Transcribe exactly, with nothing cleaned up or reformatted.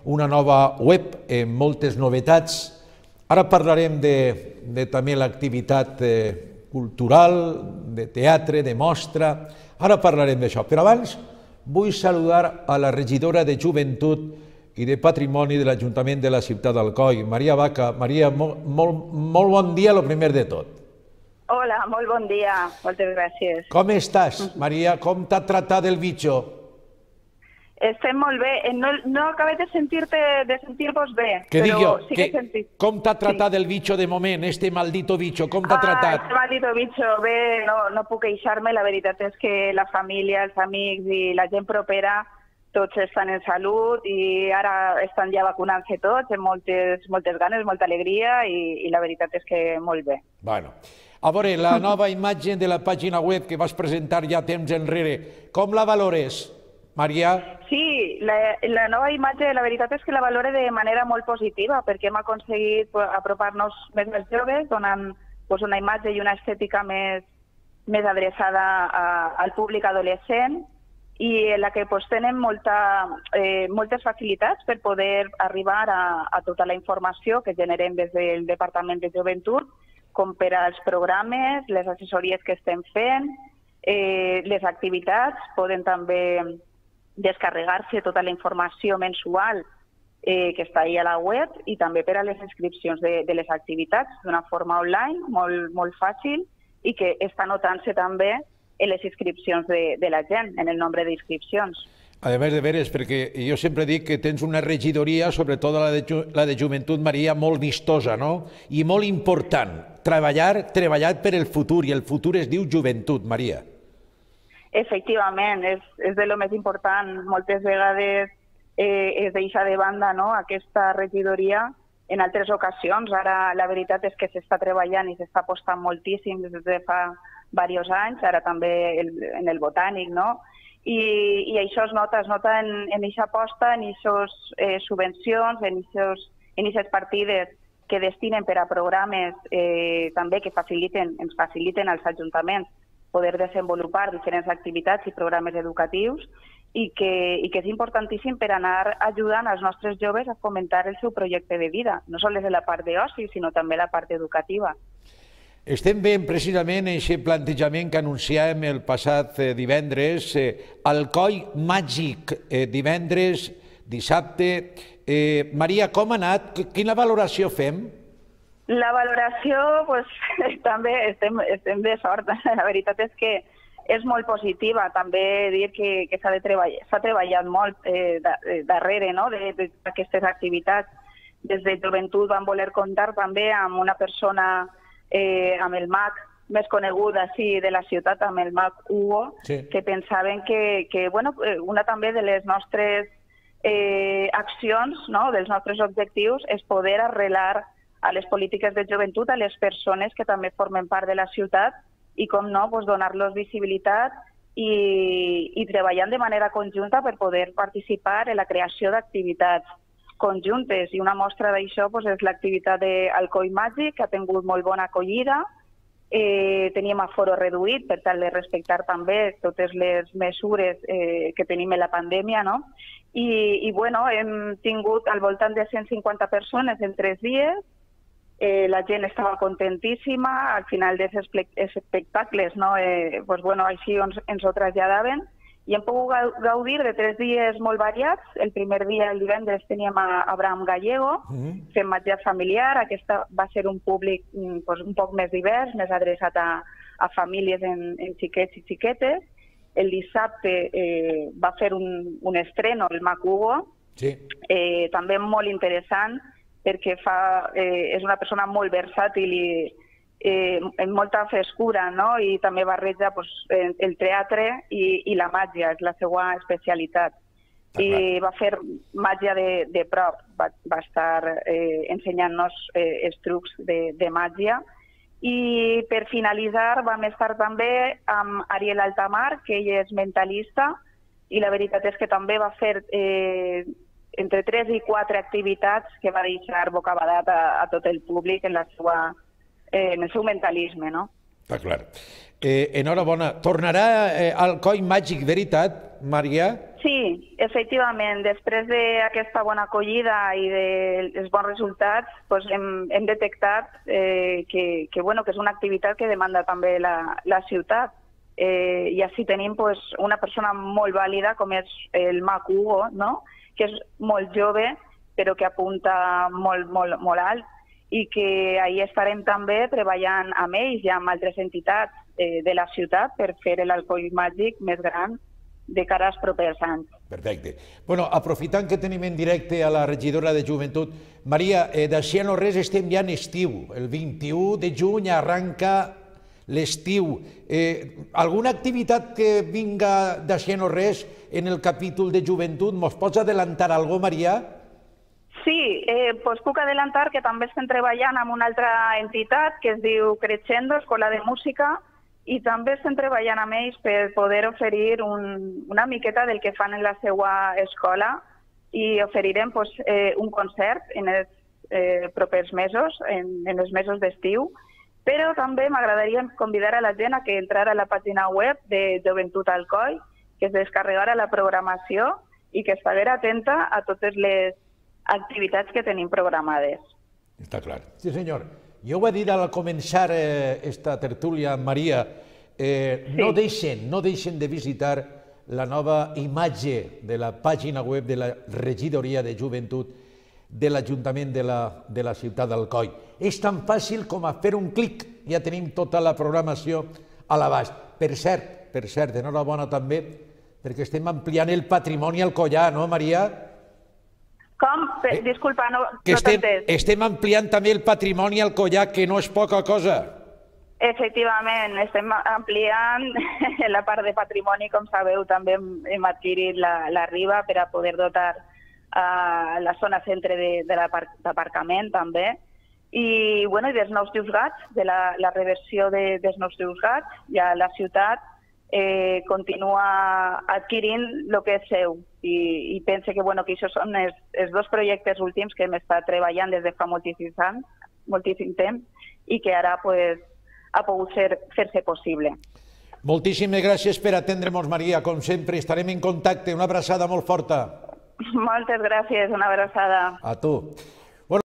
una nova web amb moltes novetats. Ara parlarem de, de també l'activitat eh, cultural, de teatre, de mostra. Ara parlarem d'això. Però abans vull saludar a la regidora de Joventut i de Patrimoni de l'Ajuntament de la ciutat d'Alcoi, Maria Vaca. Maria, molt, molt, molt bon dia, el primer de tot. Hola, molt bon dia. Moltes gràcies. Com estàs, Maria? Com t'ha tratat el bitxo? Estem molt bé. No, no acabé de sentir-te, de sentir-vos bé. Què dic jo? Sí que he sentit. Com t'ha tratat el bitxo de moment, este maldito bitxo? Com t'ha ah, tratat? Este maldito bitxo, bé, no, no puc queixar-me. La veritat és que la família, els amics i la gent propera tots estan en salut i ara estan ja vacunant-se tots, amb moltes, moltes ganes, molta alegria i, i la veritat és que molt bé. Bueno, a veure, la nova imatge de la pàgina web que vas presentar ja temps enrere, com la valores, Maria? Sí, la, la nova imatge, la veritat és que la valore de manera molt positiva perquè hem aconseguit pues, apropar-nos més als joves, donant pues, una imatge i una estètica més, més adreçada a, al públic adolescent i en la que pues, tenen molta, eh, moltes facilitats per poder arribar a, a tota la informació que generem des del Departament de Joventut, com per als programes, les assessories que estem fent, eh, les activitats, poden també descarregar-se tota la informació mensual eh, que està ahí a la web i també per a les inscripcions de, de les activitats d'una forma online, molt, molt fàcil i que està notant-se també en les inscripcions de, de la gent, en el nombre d'inscripcions. A veure, de veres, perquè jo sempre dic que tens una regidoria, sobretot la de, la de Joventut, Maria, molt vistosa, no? I molt important, treballar, treballar per el futur, i el futur es diu joventut, Maria. Efectivament, és, és de lo més important. Moltes vegades eh, es deixa de banda no? aquesta regidoria en altres ocasions. Ara la veritat és que s'està treballant i s'està apostant moltíssim des de fa diversos anys, ara també el, en el botànic, no? I, i això es nota, es nota en aquesta aposta, en aquestes eh, subvencions, en aquestes partides que destinen per a programes eh, també que faciliten, ens faciliten als ajuntaments poder desenvolupar diferents activitats i programes educatius i que, i que és importantíssim per anar ajudant als nostres joves a fomentar el seu projecte de vida, no només la part d'oci, sinó també la part educativa. Estem veient precisament aquest plantejament que anunciàvem el passat divendres, Alcoi Màgic, divendres, dissabte. Eh, Maria, com ha anat? Quina valoració fem? La valoració, pues, també estem, estem de sort. La veritat és que és molt positiva. També dir que, que s'ha treballat, treballat molt eh, darrere no? d'aquestes activitats. Des de Joventut vam voler comptar també amb una persona Eh, amb el mag més conegut així de la ciutat, amb el mag Hugo, sí. que pensaven que, que bueno, una també de les nostres eh, accions, no? dels nostres objectius, és poder arrelar a les polítiques de joventut a les persones que també formen part de la ciutat i, com no, pues, donar-los visibilitat i, i treballant de manera conjunta per poder participar en la creació d'activitats conjuntes, i una mostra d'això pues, és l'activitat d'Alcoi Màgic, que ha tingut molt bona acollida. Eh, teníem aforo reduït per tal de respectar també totes les mesures eh, que tenim en la pandèmia, no? I, i bueno, hem tingut al voltant de cent cinquanta persones en tres dies, eh, la gent estava contentíssima, al final dels espectacles, no? eh, pues, bueno, així ens, ens ho traslladaven, i hem pogut gaudir de tres dies molt variats. El primer dia, el divendres, teníem a Abraham Gallego, mm-hmm. fent menjar familiar. Aquesta va ser un públic pues, un poc més divers, més adreçat a, a famílies en, en xiquets i xiquetes. El dissabte eh, va fer un, un estreno, el Mag Hugo, sí. eh, també molt interessant, perquè fa, eh, és una persona molt versàtil i Eh, amb molta frescura, no? I també barreja pues, el teatre i, i la màgia, és la seva especialitat. Ah, I va fer màgia de, de prop, va, va estar eh, ensenyant-nos eh, els trucs de, de màgia. I per finalitzar vam estar també amb Ariel Altamar, que ell és mentalista, i la veritat és que també va fer eh, entre tres i quatre activitats que va deixar bocabadat a, a tot el públic en la seva en el seu mentalisme, no? Està clar. Eh, enhorabona. Tornarà eh, al Coll Màgic, veritat, Maria? Sí, efectivament. Després d'aquesta bona acollida i dels bons resultats, doncs hem, hem detectat eh, que, que, bueno, que és una activitat que demanda també la, la ciutat. Eh, I així tenim pues, una persona molt vàlida com és el Mac Hugo, no? Que és molt jove però que apunta molt, molt, molt alt i que ahir estarem també treballant amb ells i amb altres entitats eh, de la ciutat per fer l'Alcoll Màgic més gran de cara als propers anys. Perfecte. Bueno, aprofitant que tenim en directe a la regidora de Joventut, Maria, eh, d'així no res estem ja en estiu. El vint-i-u de juny arranca l'estiu. Eh, alguna activitat que vinga d'així no res en el capítol de Joventut? Mos pots adelantar alguna cosa, Maria? Sí, eh, doncs puc adelantar que també estem treballant amb una altra entitat que es diu Crescendo, Escola de Música, i també estem treballant amb ells per poder oferir un, una miqueta del que fan en la seva escola i oferirem pues, eh, un concert en els eh, propers mesos, en, en els mesos d'estiu, però també m'agradaria convidar a la gent a que entrara a la pàgina web de Joventut Alcoi, que es descarregara la programació i que estiguera atenta a totes les activitats que tenim programades. Està clar. Sí, senyor. Jo ho he dit al començar aquesta tertúlia amb Maria, no deixen, no deixen de visitar la nova imatge de la pàgina web de la regidoria de Joventut de l'Ajuntament de la ciutat d'Alcoi. És tan fàcil com a fer un clic, ja tenim tota la programació a l'abast. Per cert, per cert, enhorabona també, perquè estem ampliant el patrimoni alcoià, no, Maria? Com? Disculpa, no t'he entès. Estem ampliant també el patrimoni alcoià, que no és poca cosa. Efectivament, estem ampliant la part de patrimoni, com sabeu, també hem adquirit la Riba per a poder dotar la zona centre de l'aparcament també. I dels nous juzgats, de la reversió dels nous juzgats, ja la ciutat continua adquirint el que és seu i pense que això són els dos projectes últims que hem estat treballant des de fa moltíssim temps i que ara ha pogut fer-se possible. Moltíssimes gràcies per atendre'ns, Maria, com sempre. Estarem en contacte. Una abraçada molt forta. Moltes gràcies, una abraçada. A tu.